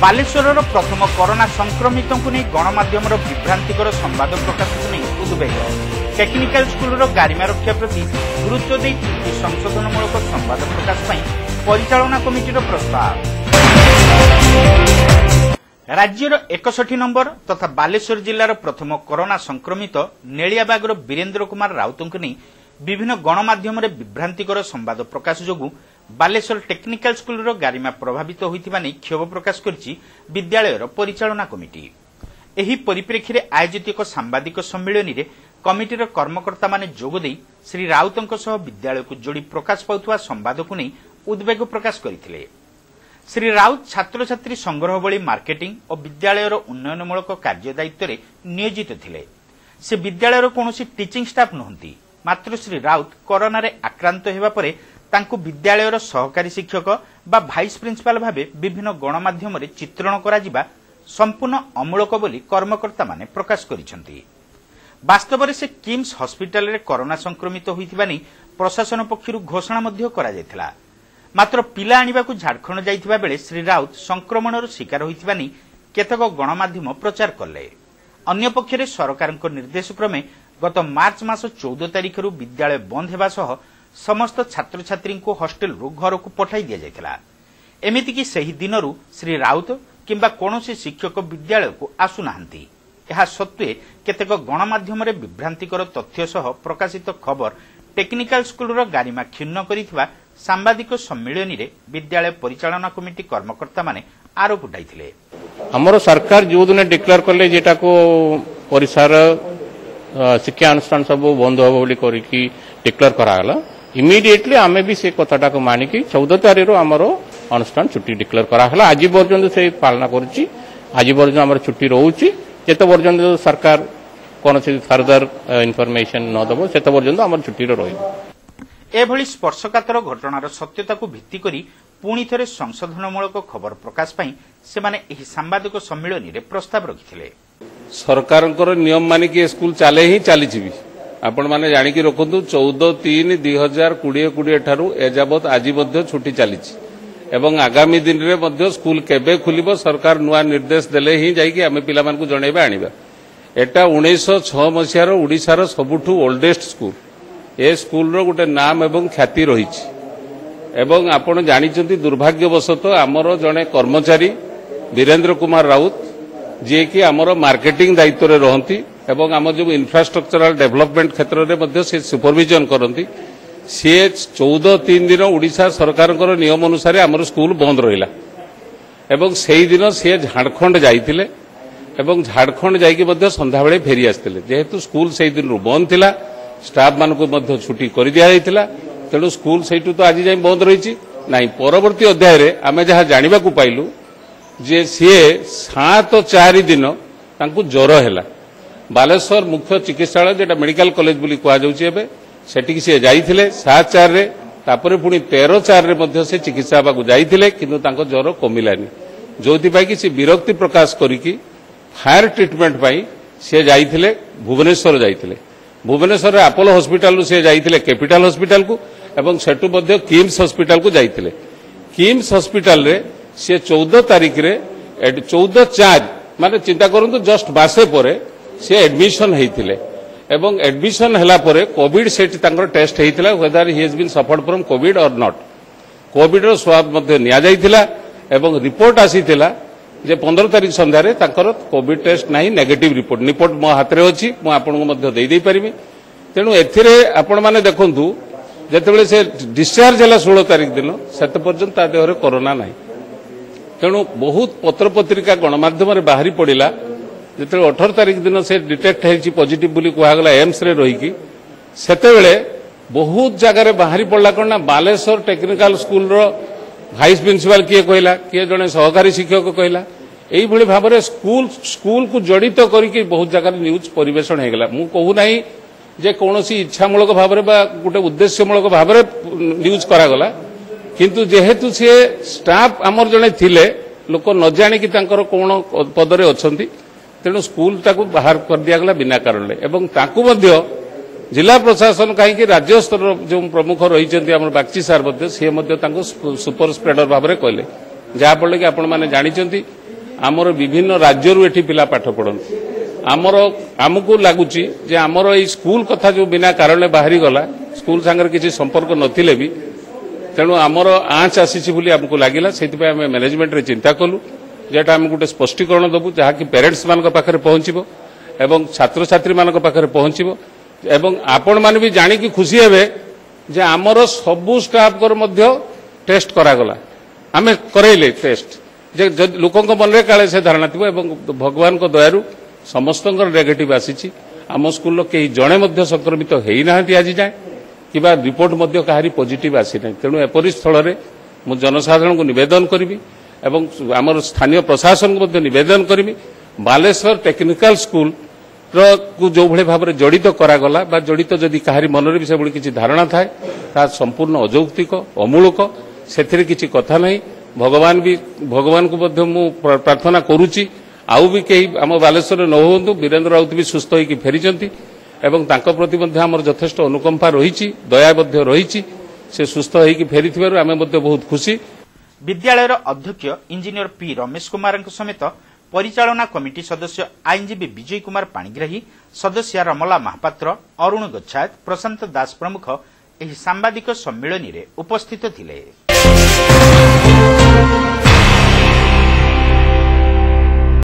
ବାଲେଶ୍ୱରର ପ୍ରଥମ କରୋନା ସଂକ୍ରମିତଙ୍କୁ ନେଇ ଗଣମାଧ୍ୟମର ବିଭ୍ରାନ୍ତିକର ସମ୍ବାଦ ପ୍ରକାଶକୁ ନେଇ ଉଦ୍ବେଗ। ଟେକ୍ନିକାଲ ସ୍କୁଲର ଗାରିମା ରକ୍ଷା ପ୍ରତି ଗୁରୁତ୍ୱ ଦେଇ ତ୍ରୁଟି ସଂଶୋଧନମୂଳକ ସମ୍ବାଦ ପ୍ରକାଶ ପାଇଁ ପରିଚାଳନା କମିଟିର ପ୍ରସ୍ତାବ। ରାଜ୍ୟର 61 ନମ୍ବର ତଥା ବାଲେଶ୍ୱର ଜିଲ୍ଲାର ପ୍ରଥମ କରୋନା ସଂକ୍ରମିତ ନେଳିଆବାଗର ବୀରେନ୍ଦ୍ର କୁମାର ରାଉତଙ୍କୁ ନେଇ ବିଭିନ୍ନ ଗଣମାଧ୍ୟମରେ ବିଭ୍ରାନ୍ତିକର ସମ୍ବାଦ ପ୍ରକାଶ ଯୋଗୁଁ ବାଲେଶ୍ୱର ଟେକ୍ନିକାଲ ସ୍କୁଲର ଗାରିମା ପ୍ରଭାବିତ ହୋଇଥିବା ନେଇ କ୍ଷୋଭ ପ୍ରକାଶ କରିଛି ବିଦ୍ୟାଳୟର ପରିଚାଳନା କମିଟି। ଏହି ପରିପ୍ରେକ୍ଷୀରେ ଆୟୋଜିତ ଏକ ସାମ୍ବାଦିକ ସମ୍ମିଳନୀରେ କମିଟିର କର୍ମକର୍ତ୍ତାମାନେ ଯୋଗଦେଇ ଶ୍ରୀ ରାଉତଙ୍କ ସହ ବିଦ୍ୟାଳୟକୁ ଯୋଡ଼ି ପ୍ରକାଶ ପାଉଥିବା ସମ୍ବାଦକୁ ନେଇ ଉଦ୍ବେଗ ପ୍ରକାଶ କରିଥିଲେ। ଶ୍ରୀ ରାଉତ ଛାତ୍ରଛାତ୍ରୀ ସଂଗ୍ରହ ଭଳି ମାର୍କେଟିଂ ଓ ବିଦ୍ୟାଳୟର ଉନ୍ନୟନମୂଳକ କାର୍ଯ୍ୟ ଦାୟିତ୍ୱରେ ନିୟୋଜିତ ଥିଲେ। ସେ ବିଦ୍ୟାଳୟର କୌଣସି ଟିଚିଂ ଷ୍ଟାଫ୍ ନୁହନ୍ତି। ମାତ୍ର ଶ୍ରୀ ରାଉତ କରୋନାରେ ଆକ୍ରାନ୍ତ ହେବା ପରେ ତାଙ୍କୁ ବିଦ୍ୟାଳୟର ସହକାରୀ ଶିକ୍ଷକ ବା ଭାଇସ୍ ପ୍ରିନ୍ସିପାଲ ଭାବେ ବିଭିନ୍ନ ଗଣମାଧ୍ୟମରେ ଚିତ୍ରଣ କରାଯିବା ସମ୍ପୂର୍ଣ୍ଣ ଅମୂଳକ ବୋଲି କର୍ମକର୍ତ୍ତାମାନେ ପ୍ରକାଶ କରିଛନ୍ତି। ବାସ୍ତବରେ ସେ କିମ୍ସ ହସ୍ପିଟାଲରେ କରୋନା ସଂକ୍ରମିତ ହୋଇଥିବା ନେଇ ପ୍ରଶାସନ ପକ୍ଷରୁ ଘୋଷଣା ମଧ୍ୟ କରାଯାଇଥିଲା। ମାତ୍ର ପିଲା ଆଣିବାକୁ ଝାଡ଼ଖଣ୍ଡ ଯାଇଥିବା ବେଳେ ଶ୍ରୀ ରାଉତ ସଂକ୍ରମଣର ଶିକାର ହୋଇଥିବା ନେଇ କେତେକ ଗଣମାଧ୍ୟମ ପ୍ରଚାର କଲେ। ଅନ୍ୟପକ୍ଷରେ ସରକାରଙ୍କ ନିର୍ଦ୍ଦେଶକ୍ରମେ ଗତ ମାର୍ଚ୍ଚ ମାସ 14 ତାରିଖରୁ ବିଦ୍ୟାଳୟ ବନ୍ଦ ହେବା ସହ ସମସ୍ତ ଛାତ୍ରଛାତ୍ରୀଙ୍କୁ ହଷ୍ଟେଲରୁ ଘରକୁ ପଠାଇ ଦିଆଯାଇଥିଲା। ଏମିତିକି ସେହି ଦିନରୁ ଶ୍ରୀ ରାଉତ କିମ୍ବା କୌଣସି ଶିକ୍ଷକ ବିଦ୍ୟାଳୟକୁ ଆସୁନାହାନ୍ତି। ଏହା ସତ୍ତ୍ୱେ କେତେକ ଗଣମାଧ୍ୟମରେ ବିଭ୍ରାନ୍ତିକର ତଥ୍ୟ ସହ ପ୍ରକାଶିତ ଖବର ଟେକ୍ନିକାଲ ସ୍କୁଲର ଗାରିମା କ୍ଷୁଣ୍ଣ କରିଥିବା ସାମ୍ବାଦିକ ସମ୍ମିଳନୀରେ ବିଦ୍ୟାଳୟ ପରିଚାଳନା କମିଟି କର୍ମକର୍ତ୍ତାମାନେ ଆରୋପ ଉଠାଇଥିଲେ। ଆମର ସରକାର ଯେଉଁଦିନ ଡିକ୍ଲେୟାର କଲେ ଯେଟାକୁ ପରିସର ଶିକ୍ଷା ଅନୁଷ୍ଠାନ ସବୁ ବନ୍ଦ ହେବ ବୋଲି କରିକି ଡିକ୍ଲେୟାର କରାଗଲା, ଇମିଡିଏଟଲି ଆମେ ବି ସେ କଥାଟାକୁ ମାନିକି 14 ତାରିଖରୁ ଆମର ଅନୁଷ୍ଠାନ ଛୁଟି ଡିକ୍ଲେୟାର କରାଗଲା। ଆଜି ପର୍ଯ୍ୟନ୍ତ ସେ ପାଳନ କରୁଛି, ଆଜି ପର୍ଯ୍ୟନ୍ତ ଆମର ଛୁଟି ରହୁଛି। ଯେତେ ପର୍ଯ୍ୟନ୍ତ ସରକାର କୌଣସି ଫର୍ଦର ଇନଫର୍ମେସନ ନ ଦେବ ସେତେ ପର୍ଯ୍ୟନ୍ତ ଆମର ଛୁଟିରେ ରହିବ। ଏଭଳି ସ୍ପର୍ଶକାତର ଘଟଣାର ସତ୍ୟତାକୁ ଭିତ୍ତି କରି ପୁଣି ଥରେ ସଂଶୋଧନମୂଳକ ଖବର ପ୍ରକାଶ ପାଇଁ ସେମାନେ ଏହି ସାମ୍ବାଦିକ ସମ୍ମିଳନୀରେ ପ୍ରସ୍ତାବ ରଖିଥିଲେ। ସରକାରଙ୍କର ନିୟମ ମାନିକି ଏ ସ୍କୁଲ ଚାଲେ ହିଁ ଚାଲିଛି ବି। ଆପଣମାନେ ଜାଣିକି ରଖନ୍ତୁ, 14/3/2020 ଠାରୁ ଏଯାବତ୍ ଆଜି ମଧ୍ୟ ଛୁଟି ଚାଲିଛି ଏବଂ ଆଗାମୀ ଦିନରେ ମଧ୍ୟ ସ୍କୁଲ କେବେ ଖୋଲିବ ସରକାର ନୂଆ ନିର୍ଦ୍ଦେଶ ଦେଲେ ହିଁ ଯାଇକି ଆମେ ପିଲାମାନଙ୍କୁ ଜଣେଇବା ଆଣିବା। ଏଟା 1906 ମସିହାର ଓଡ଼ିଶାର ସବୁଠୁ ଓଲ୍ଡେଷ୍ଟ ସ୍କୁଲ। ଏ ସ୍କୁଲର ଗୋଟେ ନାମ ଏବଂ ଖ୍ୟାତି ରହିଛି ଏବଂ ଆପଣ ଜାଣିଛନ୍ତି ଦୁର୍ଭାଗ୍ୟବଶତଃ ଆମର ଜଣେ କର୍ମଚାରୀ ବୀରେନ୍ଦ୍ର କୁମାର ରାଉତ, ଯିଏକି ଆମର ମାର୍କେଟିଂ ଦାୟିତ୍ୱରେ ରହନ୍ତି ଏବଂ ଆମ ଯେଉଁ ଇନଫ୍ରାଷ୍ଟ୍ରକ୍ଚରାଲ ଡେଭଲପମେଣ୍ଟ କ୍ଷେତ୍ରରେ ମଧ୍ୟ ସେ ସୁପରଭିଜନ କରନ୍ତି, ସିଏ 14/3 ଦିନ ଓଡ଼ିଶା ସରକାରଙ୍କର ନିୟମ ଅନୁସାରେ ଆମର ସ୍କୁଲ ବନ୍ଦ ରହିଲା ଏବଂ ସେଇଦିନ ସିଏ ଝାଡ଼ଖଣ୍ଡ ଯାଇଥିଲେ ଏବଂ ଝାଡ଼ଖଣ୍ଡ ଯାଇକି ମଧ୍ୟ ସନ୍ଧ୍ୟାବେଳେ ଫେରି ଆସିଥିଲେ। ଯେହେତୁ ସ୍କୁଲ ସେଇ ଦିନରୁ ବନ୍ଦ ଥିଲା, ଷ୍ଟାଫ୍ମାନଙ୍କୁ ମଧ୍ୟ ଛୁଟି କରିଦିଆଯାଇଥିଲା, ତେଣୁ ସ୍କୁଲ ସେଇଠୁ ତ ଆଜି ଯାଏଁ ବନ୍ଦ ରହିଛି ନାହିଁ। ପରବର୍ତ୍ତୀ ଅଧ୍ୟାୟରେ ଆମେ ଯାହା ଜାଣିବାକୁ ପାଇଲୁ ଯେ ସିଏ 7/4 ଦିନ ତାଙ୍କୁ ଜ୍ୱର ହେଲା। ବାଲେଶ୍ୱର ମୁଖ୍ୟ ଚିକିତ୍ସାଳୟ, ଯେଟା ମେଡିକାଲ କଲେଜ ବୋଲି କୁହାଯାଉଛି ଏବେ, ସେଠିକି ସିଏ ଯାଇଥିଲେ 7/4ରେ। ତାପରେ ପୁଣି 13/4ରେ ମଧ୍ୟ ସେ ଚିକିତ୍ସା ହେବାକୁ ଯାଇଥିଲେ, କିନ୍ତୁ ତାଙ୍କ ଜ୍ୱର କମିଲାନି, ଯୋଉଥିପାଇଁ କି ସେ ବିରକ୍ତି ପ୍ରକାଶ କରିକି ହାୟର ଟ୍ରିଟମେଣ୍ଟ ପାଇଁ ସିଏ ଯାଇଥିଲେ ଭୁବନେଶ୍ୱର ଯାଇଥିଲେ। ଭୁବନେଶ୍ୱରରେ ଆପୋଲୋ ହସ୍ପିଟାଲରୁ ସେ ଯାଇଥିଲେ କ୍ୟାପିଟାଲ ହସ୍ପିଟାଲକୁ ଏବଂ ସେଠୁ ମଧ୍ୟ କିମ୍ସ ହସ୍ପିଟାଲକୁ ଯାଇଥିଲେ। କିମ୍ସ ହସ୍ପିଟାଲରେ ସେ 14 ତାରିଖରେ 14/4 ମାନେ ଚିନ୍ତା କରନ୍ତୁ ଜଷ୍ଟ ମାସେ ପରେ ସେ ଆଡମିସନ ହେଇଥିଲେ ଏବଂ ଆଡମିସନ ହେଲା ପରେ କୋଭିଡ ସେଠି ତାଙ୍କର ଟେଷ୍ଟ ହେଇଥିଲା, whether he has been suffered from COVID or not. କୋଭିଡର ସ୍ୱାବ ମଧ୍ୟ ନିଆଯାଇଥିଲା ଏବଂ ରିପୋର୍ଟ ଆସିଥିଲା ଯେ 15 ତାରିଖ ସନ୍ଧ୍ୟାରେ ତାଙ୍କର କୋଭିଡ ଟେଷ୍ଟ ନାହିଁ, ନେଗେଟିଭ ରିପୋର୍ଟ। ରିପୋର୍ଟ ମୋ ହାତରେ ଅଛି, ମୁଁ ଆପଣଙ୍କୁ ମଧ୍ୟ ଦେଇପାରିବି। ତେଣୁ ଏଥିରେ ଆପଣମାନେ ଦେଖନ୍ତୁ, ଯେତେବେଳେ ସେ ଡିସଚାର୍ଜ ହେଲା 16 ତାରିଖ ଦିନ, ସେତେ ପର୍ଯ୍ୟନ୍ତ ତା ଦେହରେ କରୋନା ନାହିଁ। ତେଣୁ ବହୁତ ପତ୍ରପତ୍ରିକା ଗଣମାଧ୍ୟମରେ ବାହାରି ପଡ଼ିଲା। ଯେତେବେଳେ 18 ତାରିଖ ଦିନ ସେ ଡିଟେକ୍ଟ ହେଇଛି ପଜିଟିଭ ବୋଲି କୁହାଗଲା ଏମ୍ସରେ ରହିକି, ସେତେବେଳେ ବହୁତ ଜାଗାରେ ବାହାରି ପଡ଼ିଲା କ'ଣ ନା ବାଲେଶ୍ୱର ଟେକ୍ନିକାଲ ସ୍କୁଲର ଭାଇସ୍ ପ୍ରିନ୍ସିପାଲ କିଏ କହିଲା, କିଏ ଜଣେ ସହକାରୀ ଶିକ୍ଷକ କହିଲା। ଏଇଭଳି ଭାବରେ ସ୍କୁଲକୁ ଜଡ଼ିତ କରିକି ବହୁତ ଜାଗାରେ ନ୍ୟୁଜ୍ ପରିବେଷଣ ହେଇଗଲା। ମୁଁ କହୁନାହିଁ ଯେ କୌଣସି ଇଚ୍ଛାମୂଳକ ଭାବରେ ବା ଗୋଟେ ଉଦ୍ଦେଶ୍ୟମୂଳକ ଭାବରେ ନ୍ୟୁଜ୍ କରାଗଲା, କିନ୍ତୁ ଯେହେତୁ ସିଏ ଷ୍ଟାଫ୍ ଆମର ଜଣେ ଥିଲେ, ଲୋକ ନ ଜାଣିକି ତାଙ୍କର କ'ଣ ପଦରେ ଅଛନ୍ତି, ତେଣୁ ସ୍କୁଲଟାକୁ ବାହାର କରିଦିଆଗଲା ବିନା କାରଣରେ। ଏବଂ ତାଙ୍କୁ ମଧ୍ୟ ଜିଲ୍ଲା ପ୍ରଶାସନ କାହିଁକି ରାଜ୍ୟ ସ୍ତରର ଯେଉଁ ପ୍ରମୁଖ ରହିଛନ୍ତି ଆମର ବାଗଚି ସାର୍ ମଧ୍ୟ, ସିଏ ମଧ୍ୟ ତାଙ୍କୁ ସୁପର ସ୍ପ୍ରେଡର ଭାବରେ କହିଲେ, ଯାହାଫଳରେ କି ଆପଣମାନେ ଜାଣିଛନ୍ତି ଆମର ବିଭିନ୍ନ ରାଜ୍ୟରୁ ଏଠି ପିଲା ପାଠ ପଢ଼ନ୍ତି। ଆମର ଆମକୁ ଲାଗୁଛି ଯେ ଆମର ଏଇ ସ୍କୁଲ କଥା ଯେଉଁ ବିନା କାରଣରେ ବାହାରିଗଲା, ସ୍କୁଲ ସାଙ୍ଗରେ କିଛି ସମ୍ପର୍କ ନଥିଲେ ବି, ତେଣୁ ଆମର ଆଞ୍ଚ ଆସିଛି ବୋଲି ଆମକୁ ଲାଗିଲା। ସେଥିପାଇଁ ଆମେ ମ୍ୟାନେଜମେଣ୍ଟରେ ଚିନ୍ତା କଲୁ ଯେ ଏଟା ଆମେ ଗୋଟେ ସ୍ପଷ୍ଟୀକରଣ ଦେବୁ, ଯାହାକି ପ୍ୟାରେଣ୍ଟସ୍ ମାନଙ୍କ ପାଖରେ ପହଞ୍ଚିବ ଏବଂ ଛାତ୍ରଛାତ୍ରୀମାନଙ୍କ ପାଖରେ ପହଞ୍ଚିବ। ଏବଂ ଆପଣମାନେ ବି ଜାଣିକି ଖୁସି ହେବେ ଯେ ଆମର ସବୁ ଷ୍ଟାଫଙ୍କର ମଧ୍ୟ ଟେଷ୍ଟ କରାଗଲା। ଆମେ କରାଇଲେ ଟେଷ୍ଟ ଯେ ଯଦି ଲୋକଙ୍କ ମନରେ କାଳେ ସେ ଧାରଣା ଥିବ, ଏବଂ ଭଗବାନଙ୍କ ଦୟାରୁ ସମସ୍ତଙ୍କର ନେଗେଟିଭ୍ ଆସିଛି। ଆମ ସ୍କୁଲର କେହି ଜଣେ ମଧ୍ୟ ସଂକ୍ରମିତ ହେଇନାହାନ୍ତି ଆଜି ଯାଏଁ, କିମ୍ବା ରିପୋର୍ଟ ମଧ୍ୟ କାହାରି ପଜିଟିଭ୍ ଆସିନାହିଁ। ତେଣୁ ଏପରି ସ୍ଥଳରେ ମୁଁ ଜନସାଧାରଣଙ୍କୁ ନିବେଦନ କରିବି ଏବଂ ଆମର ସ୍ଥାନୀୟ ପ୍ରଶାସନକୁ ମଧ୍ୟ ନିବେଦନ କରିବି, ବାଲେଶ୍ୱର ଟେକ୍ନିକାଲ ସ୍କୁଲର କୁ ଯେଉଁଭଳି ଭାବରେ ଜଡ଼ିତ କରାଗଲା ବା ଜଡ଼ିତ ଯଦି କାହାରି ମନରେ ବି ସେଭଳି କିଛି ଧାରଣା ଥାଏ, ତାହା ସମ୍ପୂର୍ଣ୍ଣ ଅଯୌକ୍ତିକ, ଅମୂଳକ, ସେଥିରେ କିଛି କଥା ନାହିଁ। ଭଗବାନଙ୍କୁ ମଧ୍ୟ ମୁଁ ପ୍ରାର୍ଥନା କରୁଛି ଆଉ ବି କେହି ଆମ ବାଲେଶ୍ୱରରେ ନ ହୁଅନ୍ତୁ। ବୀରେନ୍ଦ୍ର ରାଉତ ବି ସୁସ୍ଥ ହେଇକି ଫେରିଛନ୍ତି ଏବଂ ତାଙ୍କ ପ୍ରତି ମଧ୍ୟ ଆମର ଯଥେଷ୍ଟ ଅନୁକମ୍ପା ରହିଛି, ଦୟା ମଧ୍ୟ ରହିଛି। ସେ ସୁସ୍ଥ ହେଇକି ଫେରିଥିବାରୁ ଆମେ ମଧ୍ୟ ବହୁତ ଖୁସି। ବିଦ୍ୟାଳୟର ଅଧ୍ୟକ୍ଷ ଇଞ୍ଜିନିୟର ପି ରମେଶ କୁମାରଙ୍କ ସମେତ ପରିଚାଳନା କମିଟି ସଦସ୍ୟ ଆଇନଜୀବୀ ବିଜୟ କୁମାର ପାଣିଗ୍ରାହୀ, ସଦସ୍ୟା ରମଲା ମହାପାତ୍ର, ଅରୁଣ ଗୋଚ୍ଛାୟତ, ପ୍ରଶାନ୍ତ ଦାସ ପ୍ରମୁଖ ଏହି ସାମ୍ବାଦିକ ସମ୍ମିଳନୀରେ ଉପସ୍ଥିତ ଥିଲେ।